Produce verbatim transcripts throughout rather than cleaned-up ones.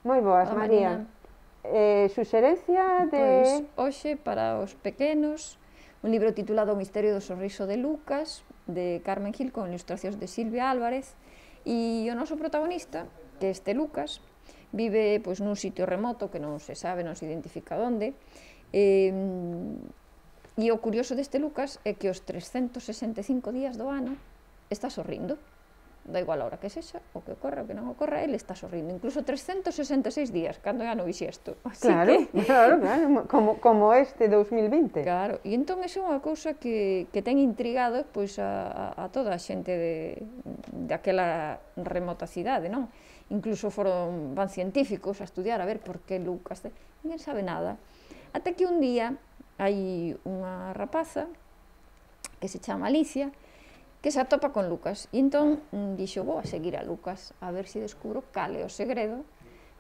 Moi boas, Hola, María. Marina. Eh, suxerencia Pois, de... hoxe, para os pequenos, un libro titulado O misterio do sorriso de Lucas, de Carmen Gil, con ilustracións de Silvia Álvarez, e o noso protagonista, que este Lucas, vive pois, nun sitio remoto que non se sabe, non se identifica onde, e, e o curioso deste Lucas é que os trescentos sesenta e cinco días do ano está sorrindo. Da igual a hora que sexa, o que ocorra, o que non ocorra, ele está sorrindo, incluso trescentos sesenta e seis días, cando é ano bisiesto. Así Claro, que... claro, claro, como, como este dous mil vinte. Claro, e entón iso é unha cousa que, que ten intrigado pois, a, a toda a xente de, daquela remota cidade, non? Incluso foron, van científicos a estudiar a ver por que Lucas, ninguén sabe nada. Até que un día hai unha rapaza que se chama Alicia, que se atopa con Lucas, e entón dixo, vou a seguir a Lucas, a ver se descubro cal é o segredo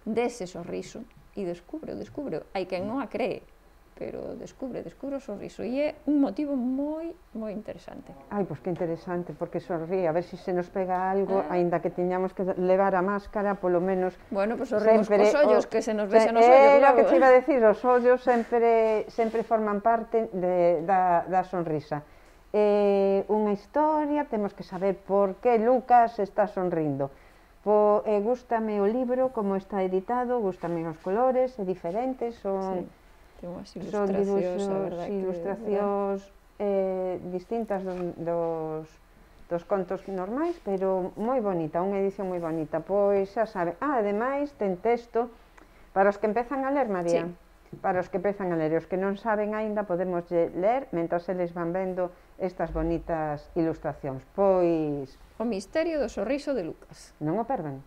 dese sorriso, e descubre, descubre, hai quen non a cree, pero descubre, descubre o sorriso, e é un motivo moi, moi interesante. Ai, pois que interesante, porque sorrí, a ver se se nos pega algo, Eh. aínda que tiñamos que levar a máscara, polo menos... Bueno, pois sorrimos cos ollos, que se nos se, vexa nos ollos, era o logo. que te iba a decir, os ollos sempre, sempre forman parte de, da, da sonrisa. Eh, unha historia, temos que saber por que Lucas está sonrindo. Po, eh, gústame o libro, como está editado, gústame os colores, é diferente, son, sí, ten unhas son ilustracións, dibuxos, a verdad, ilustracións eh, distintas dos, dos, dos contos normais, pero moi bonita, unha edición moi bonita. Pois xa sabe, ah, ademais ten texto para os que empezan a ler, María. Sí. Para os que empezan a ler, e os que non saben aínda podemos ler mentras eles van vendo estas bonitas ilustracións. Pois... O misterio do sorriso de Lucas. Non o perdan.